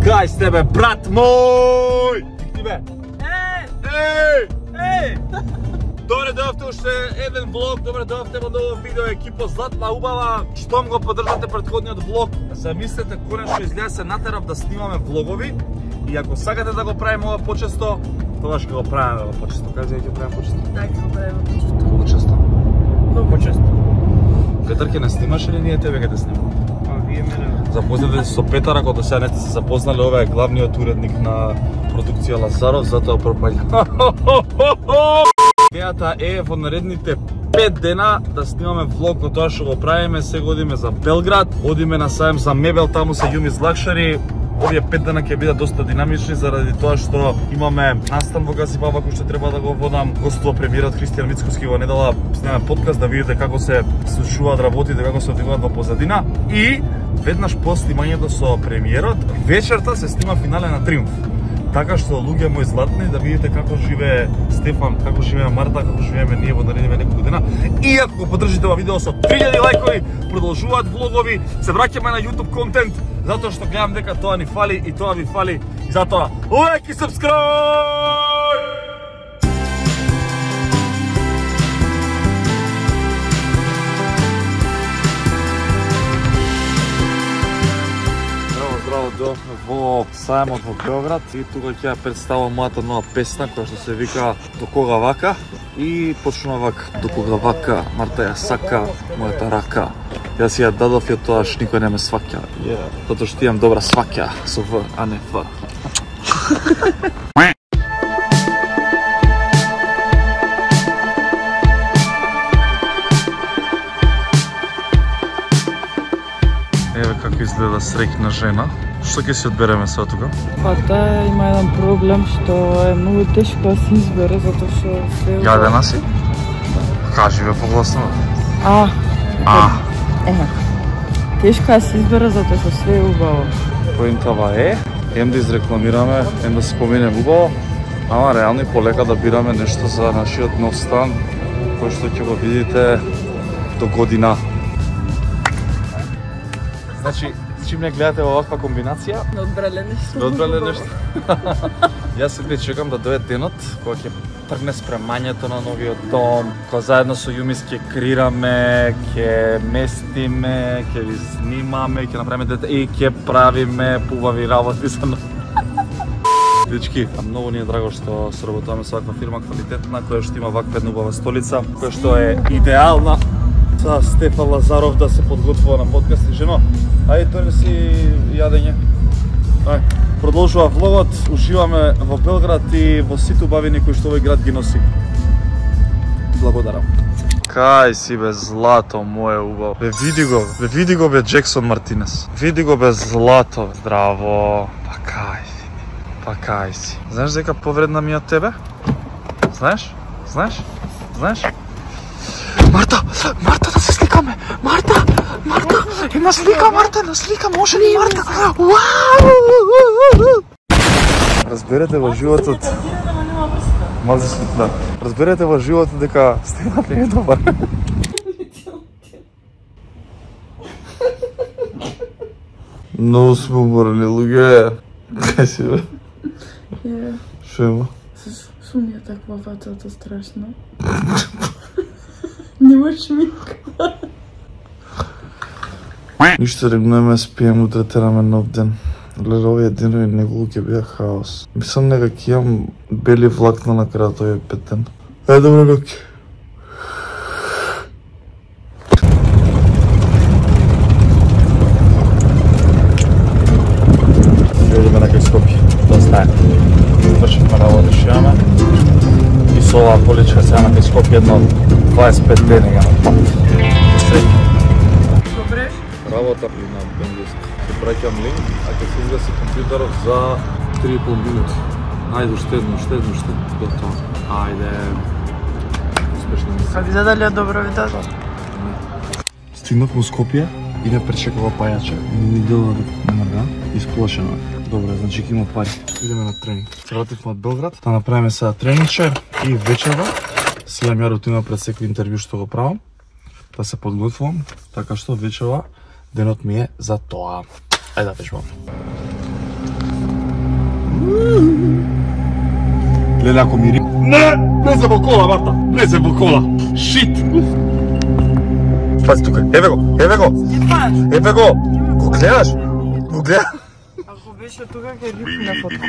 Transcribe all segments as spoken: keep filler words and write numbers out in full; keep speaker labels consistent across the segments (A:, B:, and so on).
A: Кај сте бе, брат мој! Ти бе?
B: Е!
A: Еј!
B: Е!
A: Добре дојавте уште еден влог, добре дојавте во ново видео, екипа Златна убава. Штом го поддржате претходниот влог, замислете конечно изгледа се натерав да снимаме влогови и ако сакате да го правиме ова почесто, тогаш ќе го правиме ова почесто. Кажи ќе правиме почесто?
B: Така ќе го правиме почесто.
A: Почесто.
B: Многу почесто.
A: Петар ќе не снимаш или ние тебе ќе те снимаме?
B: А вие мене.
A: Запознате се со Петар, ако до сега не сте се запознали, ова е главниот уредник на продукција Лазаров, затоа пропаѓа. Идејата е во наредните пет дена да снимаме влог од тоа што го правиме. Сега одиме за Белград, одиме на сајм за мебел, таму се Јумис Лакшари. Овие пет дена ќе бидат доста динамични заради тоа што имаме настан во Газибаба кој што треба да го водам. Гостува премиерот Христијан Мицкоски во недела, снимаме подкаст да видите како се случуваат работите, како се одвиваат во позадина. И веднаш по снимањето со премиерот, вечерта се снима финале на Триумф. Така што луѓе мои златни, да видите како живее Стефан, како живее Марта, како живееме ние во наредните неколку дена. И ако го поддржите ова видео со три илјади лајкови, продолжуваат влогови, се враќаме на YouTube контент, затоа што гледам дека тоа ни фали и тоа ви фали. И затоа, лайк и subscribe! Дојавме во сајмот во Белград и тука ќе ја представам мојата нова песна која што се вика До кога вака и почнува вака: до кога вака, Марта ја сака мојата рака. Јас ја дадов ја тоа што никој не ме сваќа. Yeah. Затоа што имам добра сваќа со В, а не Ф. Еве како изгледа среќна жена. Што ќе се одбереме сега тука?
B: Па таа има еден проблем што е многу тешко да се избере затоа што се
A: Јадена си? Кажи бе погласно.
B: А.
A: А.
B: Еха. Тешко да се избере затоа што све е убаво.
A: Поинтава е, ем да изрекламираме, ем да се споменем убаво, ама реално и полека да бираме нешто за нашиот нов стан, кој што ќе го видите до година. Значи, чим не гледате во оваква комбинација?
B: Не одбрале нешто.
A: Не одбрале нешто. Јас седи чекам да дојде денот кога ќе тргне спремањето на новиот дом, кога заедно со Јумис ќе крираме, ќе местиме, ќе ви снимаме, ќе направиме дете и ќе правиме пубави работи за нов. Дечки, многу ни е драго што соработуваме со ваква фирма квалитетна која што има ваква една убава столица, која што е идеална за Стефан Лазаров да се подготвува на подкаст. И жено, ајде тој не си јадење. Ај, продолжува влогот, уживаме во Белград и во сите убавини кои што овој град ги носи. Благодарам. Кај си бе злато мое убаво. Бе види го, бе види го бе Джексон Мартинес. Види го бе злато. Здраво. Па кај си. Па кај си. Знаеш дека повредна ми од тебе? Знаеш? Знаеш? Знаеш? Марта, Марта да се сликаме. Марта, Марта, една слика, Марта, една слика, може ли Марта? Разберете во животот. Мази се, да. Разберете во животот дека Стефан не е добар. Многу сме уморни луѓе. Кај си бе?
B: Е.
A: Шо има?
B: Шо ми е таква ватата страшно? Нема шминка.
A: Ништо, регнуваме, спием, утре тераме нов ден. Гледа, овие денови неколку ќе бија хаос. Мислам дека ќе имам бели влакна на крајот овие пет ден. Е, добро ноќ. Идеме на кај Скопје, да знае. Вршивме работа што имаме. И со оваа поличка сега на кај Скопје едно дваесет и пет дена ја на пат. Среќа.
B: Добре.
A: Работа при на бенглиски. Ќе праќам линк, а ќе се изгаси компјутерот за три и пол минути. Ајде, уште едно, уште едно, уште едно. Готово. Ајде. Успешна мисија.
B: Как зададе добро видео?
A: Стигнав во Скопје и не пречекава пајача. Ми дела да мрда, исплашено. Добре, значи ќе има пари. Идеме на тренинг. Се вративме од Белград, да направиме сега тренинче и вечерва. Следам ја рутина пред секој интервју што го правам, да се подготвувам, така што вечерва денот ми е за тоа. Ајде да пешвам. Леле, ако мири... Не! Влезе во кола, Марта! Влезе во кола! Шит! Пази тука, еве го, еве го! Еве го! Го гледаш? Го гледаш?
B: Ако беше тука, ќе рипне под кола.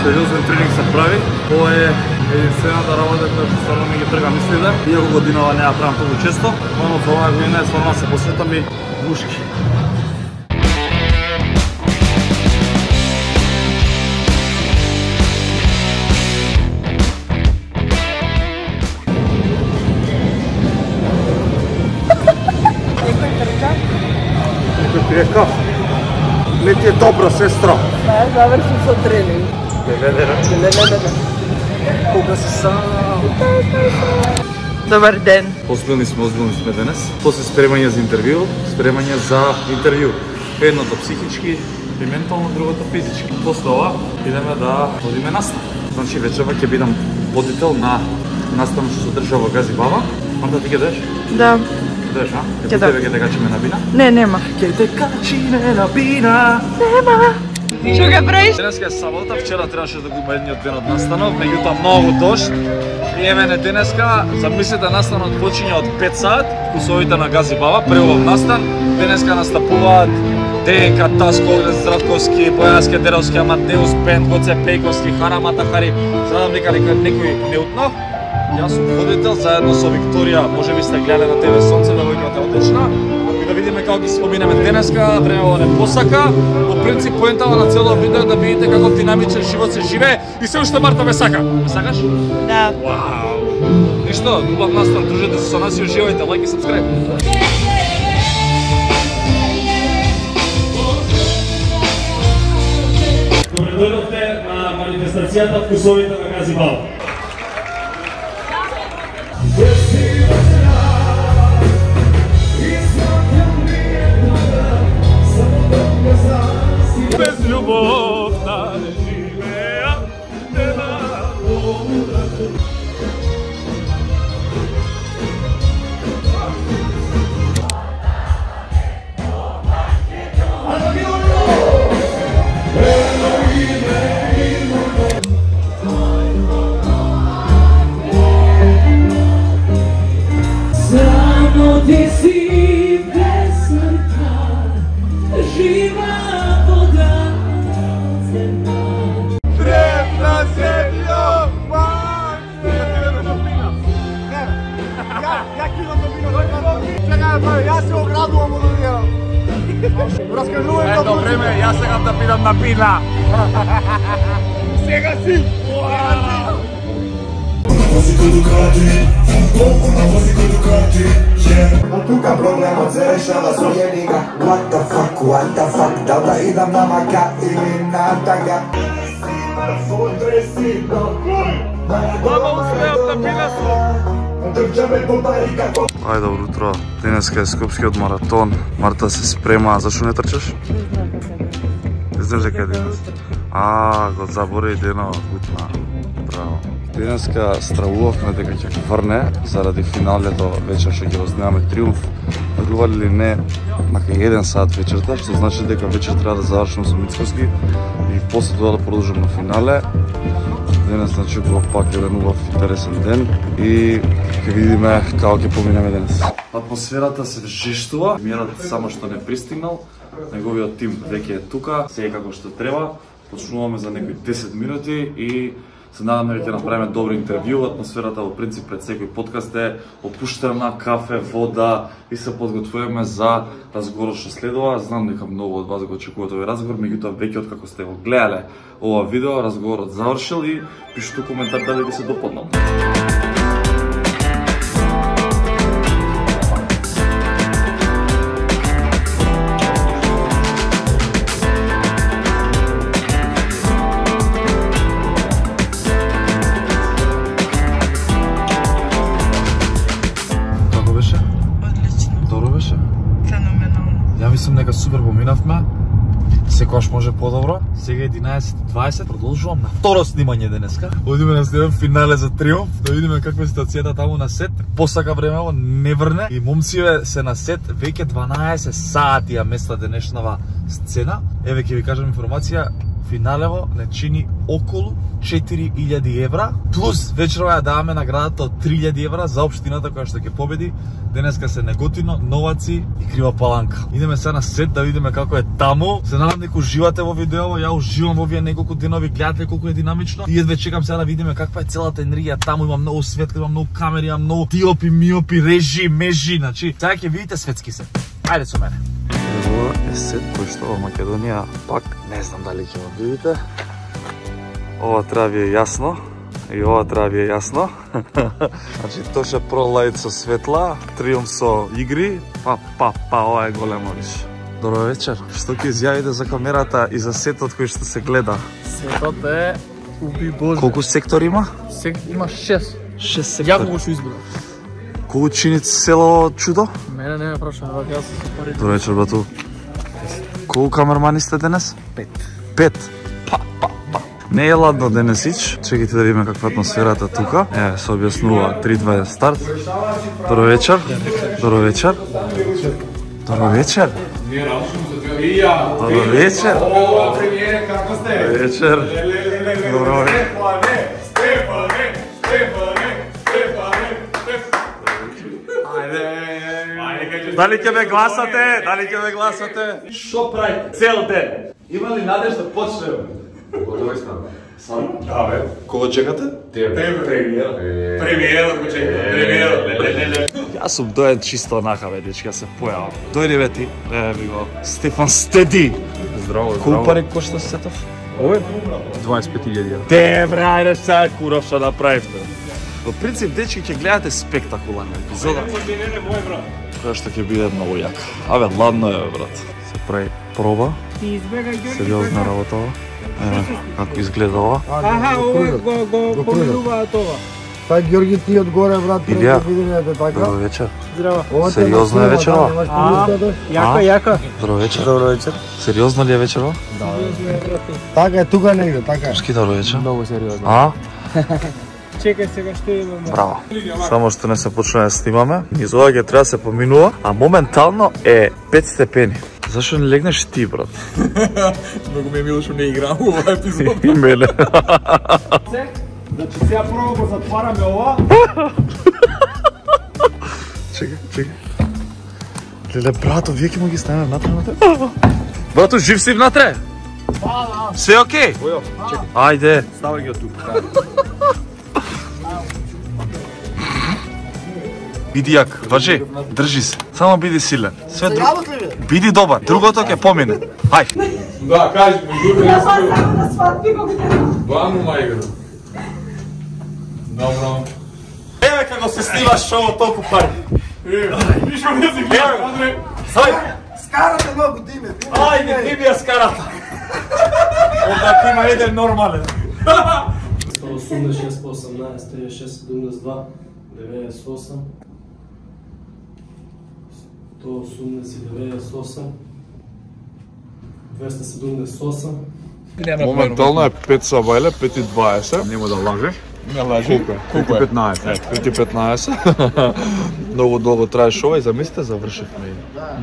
A: Сериозен тренинг се прави. Ова е единствената работа која што стварно ми ги трга мислите. Иако годинава не ја правам толку често, но за оваа година е стварно се посветам и мушки. Некој трека? Не ти е добро, сестро.
B: Не, заврши со тренинг.
A: Леле,
B: Леле,
A: кога си сам?
B: Добар ден.
A: Озбилни сме, озбилни сме денес. После спремање за интервју, спремање за интервју. Едното психички и ментално, другото физички. После ова идеме да водиме настан. Значи вечерва ќе бидам водител на настанот што се одржа во Гази Баба. Марта, ти ќе доеш?
B: Да.
A: Доеш, а?
B: Ќе
A: Ке тебе ќе те качиме на бина?
B: Не, нема.
A: Ќе те качиме на бина.
B: Нема. Што га правиш?
A: Денеска е сабота, вчера требаше да го има едниот ден од настанот, меѓутоа многу дожд. И еве не денеска, замислете, настанот почиња од пет саат, вкусовите на Гази Баба, прелов настан. Денеска настапуваат ДНК, Таско, Здратковски, Бојански, Деровски, Амадеус, Бенд, Гоце Пејковски, Хара Матахари. Знам дека некој не утнав. Јас сум водител заедно со Викторија, може би сте гледале на ТВ Сонце, девојката е одлична. И да видиме како ги споминеме денеска, времево не посака. По принцип, поентава на цело видео да видите како динамичен живот се живее и се уште Марта ме сака. Ме сакаш?
B: Да.
A: Вау! Ништо, убав настан, дружете се со нас и уживајте, лайк и сабскрайб.
C: Добре дојдовте на манифестацијата вкусовите на Гази Баба.
A: Без љубов не живеа, нема
D: Само ти си безсмртна, жива вода земја.
A: Древна земја, мајке!
E: Ја ќе идам да бино, чекај да прави, јас се оградувам од овие. Раскажувај
A: Ето време, јас сегам да пидам на пина.
E: Сега си!
F: А тука проблемот се решава со једига. What the fuck, what the fuck, дал да идам на мака или на тага.
A: Баба успеа да пина со. Ајде, добро утро. Денеска е Скопскиот маратон. Марта се спрема. Зашо не трчаш? Не знаеш дека е денес? А, го забори денот, гутна. Браво. Денеска стравувавме дека ќе врне заради финалето вечер што ќе го снимаме Триумф. Верували ли не, мака еден саат вечерта, што значи дека вечер треба да завршам со Мицкоски и после тоа да продолжам на финале. Денес значи го пак еден убав интересен ден и ќе видиме како ќе поминеме денес. Атмосферата се жештува, премиерот само што не пристигнал, неговиот тим веќе е тука, се е како што треба. Почнуваме за некои десет минути и се надаме дека ќе направиме добро интервју. Атмосферата во принцип пред секој подкаст е опуштена, кафе, вода и се подготвуваме за разговорот што следува. Знам дека многу од вас го очекуваат овој разговор, меѓутоа веќе откако сте го гледале ова видео, разговорот завршил и пишете коментар дали ви се допаднал. Мислам дека супер поминавме. Секогаш може подобро. Сега е единаесет и дваесет, продолжувам на второ снимање денеска. Одиме на снимам финале за Триумф, да видиме каква е ситуацијата таму на сет. Посака времево не врне и момциве се на сет веќе дванаесет сати ја места денешнава сцена. Еве ќе ви кажам информација, финалево не чини околу четири илјади евра, плюс вечерва ја даваме наградата од три илјади евра за општината која што ќе победи. Денеска се Неготино, Новаци и Крива Паланка. Идеме сега на сет да видиме како е таму. Се надам дека уживате во видео, ја уживам во овие неколку денови, гледате колку е динамично. И едве чекам сега да видиме каква е целата енергија таму, има многу светли, има многу камери, има многу диопи, миопи, режи, межи, значи сега ќе видите светски сет. Ајде со мене. Ово е сет кој што во Македонија пак не знам дали ќе го видите. Ова треба ви е јасно и ова треба ви е јасно. Значи Тоше Pro Light со светла, Триумф со игри, па па па ова е големо више. Добро вечер. Што ќе изјавите за камерата и за сетот кој што се гледа?
G: Сетот е уби Боже.
A: Колку сектори има?
G: Сек... Има шест.
A: шест сектори.
G: Јако го што избрав.
A: Колку чини село чудо?
G: Мене не ме прашува, јас се пари.
A: Добро вечер, брату. Колку камермани сте денес?
G: Пет.
A: Пет? Па, па, па. Не е ладно денесич. Чекайте да видиме каква атмосферата тука. Е, се објаснува три два старт. Добро вечер. Добро вечер. Добро вечер. Добро вечер.
E: О, премиере, како сте?
A: Добро вечер. Добро вечер.
E: Стефане, Стефане, Стефане, Стефане.
A: Дали ќе ме гласате? Дали ќе ме гласате?
C: Што правите цел ден? Има ли надеж да почнеме? Готови сме. Сам?
E: Да, бе.
A: Кого чекате?
E: Тебе.
C: Премиера.
E: Премиера го чекам. Премиера.
A: Јас сум доен чисто онака, бе, дечка, се појавам. Дојди, бе, ти. Е, ми го. Стефан Стеди.
C: Здраво,
A: Колку пари кошта сетов?
C: Овој дваесет и пет илјади евра.
A: Те, бре, ајде сега куров што направивте. Во принцип, дечки, ќе гледате спектакуларна епизода. Која што ќе биде многу јака. Абе, ладно е, бе, брат. Се прави проба. Сериозна работа ова. Еве, како изгледа ова.
G: Аха, овој го го помилуваат ова.
E: Тај Ѓорги ти одгоре, брат,
A: Илија.
E: да видиме така.
A: Добро вечер.
G: Здраво.
A: Сериозно е вечерова?
G: Јако, јако.
A: Добро вечер. Добро вечер. Сериозно ли е вечерова?
E: Така е тука негде, така е.
A: Шки, добро вечер.
G: Многу сериозно.
A: А?
G: Чекај сега што имаме.
A: Браво. Само што не се почне да снимаме, низ ова ќе треба да се поминува, а моментално е пет степени. Зашо не легнеш ти, брат?
G: Многу ми е мило што не играм ова епизод.
A: И мене.
E: Значи сега прво го затвараме ова.
A: Чекай, чекай. Леле, брато, вие ќе му ги ставаме внатре, внатре? Брато, жив си внатре? Да, да. Се окей?
C: Ојо, чекай.
A: Ајде.
C: Ставај ги од тука.
A: Биди јак, важи, држи се. Само биди силен. Све друго. Биди добар, другото ќе помине. Ај.
C: Да, кажи ми, дури
H: Ја сам на сватби го гледам.
C: Главно мајка. Добро.
A: Еве како се снима шоу толку пари.
E: Вишо не си гледам, Андре.
A: Ајде.
E: Скарате многу диме.
A: Ајде, ти ми ја скарата. Онда ти има еден нормален.
I: сто осумдесет шест по осамнаесет, триесет шест седумдесет два, деветдесет осум, сто осумдесет деветдесет осум, двеста седумдесет осум.
J: Моментално е пет сабајле, пет и дваесет.
C: Нема да лажеш.
J: Не лажи.
C: Колку е? пет и петнаесет.
J: Е, пет и петнаесет. Многу долго траеше ова и замислите завршивме.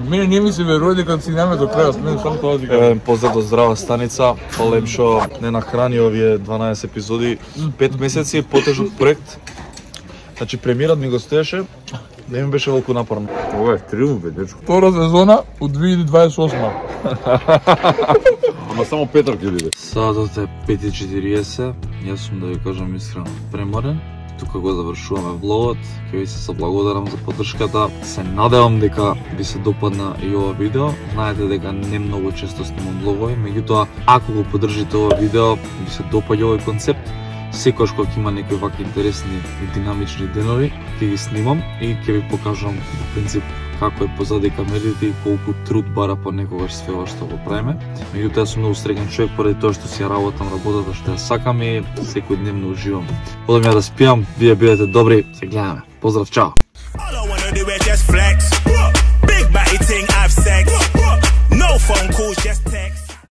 G: Мене не ми се верува дека си нема до крајот, мене само тоа дека.
J: Евен поздрав до Здрава станица, полем што не нахрани овие дванаесет епизоди, пет месеци потежок проект. Значи премиерот ми го стоеше, не ми беше волку напорно.
C: Ова е триумф, бе, дечко.
G: Втора сезона од две илјади дваесет и осма.
C: Ама само Петар ќе биде.
A: Саатот е пет и четириесет, јас сум да ви кажам искрено преморен. Тука го завршуваме влогот, ќе ви се заблагодарам за поддршката. Се надевам дека ви се допадна и ова видео. Знаете дека не многу често снимам влогови, меѓутоа ако го поддржите ова видео, ви се допаѓа овој концепт. Секојаш кога има некои вакви интересни и динамични денови, ќе ги снимам и ќе ви покажам по принцип како е позади камерите и колку труд бара понекогаш све ова што го правиме. Меѓутоа сум многу среќен човек поради тоа што си ја работам работата што ја сакам и секојдневно уживам. Одам ја да спијам, вие бидете добри, се гледаме. Поздрав, чао.
K: All I wanna do is just flex. Big body thing, have sex. No phone calls, just